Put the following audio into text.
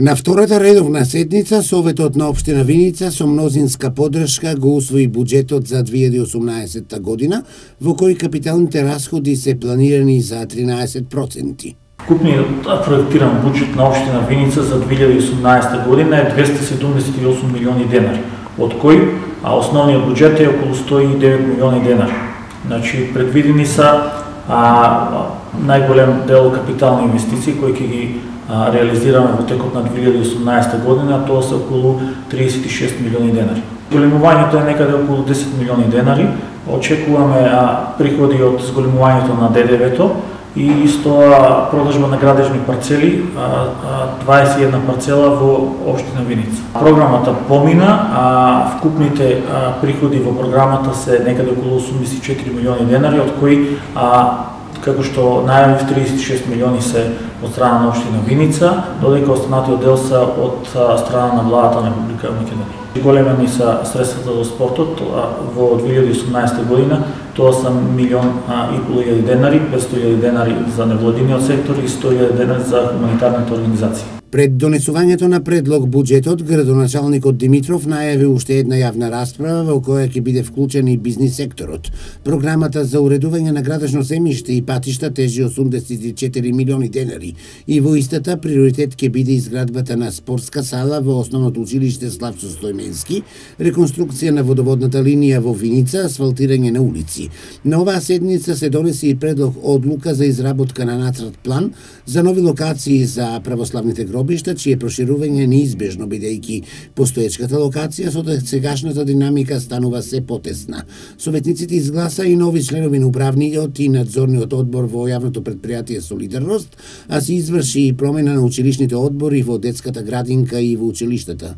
На втората редовна седница, Советот на општина Виница со мнозинска поддршка го усвои буџетот за 2018 година, во кој капиталните расходи се планирани за 13%. Купниот проектиран буџет на општина Виница за 2018 година е 278 милиони денари, од кој основниот буџет е околу 109 милиони денари. Значи, предвидени са најголем дел капитални инвестиции кои ќе ги реализираме во текот на 2018 година, тоа се околу 36 милиони денари. Зголемувањето е некаде околу 10 милиони денари. Очекуваме приходи од зголемувањето на ДДВ-то и исто продажба на градежни парцели, 21 парцела во општина Виница. Програмата помина, вкупните приходи во програмата се некаде околу 84 милиони денари, од кои како што најавив 36 милиони се од страна на општина Виница, додека останатиот дел се од страна на владата на Република Македонија. Големени са средствата за спортот во 2018 година, тоа са 1,5 милион денари, 500.000 денари за невладиниот сектор и 100.000 денари за хуманитарните организации. Пред донесувањето на предлог буџетот, градоначалникот Димитров најави уште една јавна расправа во која ќе биде вклучен и бизнис секторот. Програмата за уредување на градежно земјиште и патишта тежи 84 милиони денари и во истата приоритет ќе биде изградбата на спортска сала во основното училиште Славчо Стојменски, реконструкција на водоводната линија во Виница, асфалтирање на улици. На оваа седница се донесе и предлог одлука за изработка на нацрт план за нови локации за православните гробишта, чие проширување е неизбежно бидејќи постоечката локација со сегашната динамика станува се потесна. Советниците изгласа и нови членови на управниот и надзорниот одбор во јавното претпријатие Солидарност, а се изврши и промена на училишните одбори во детската градинка и во училиштата.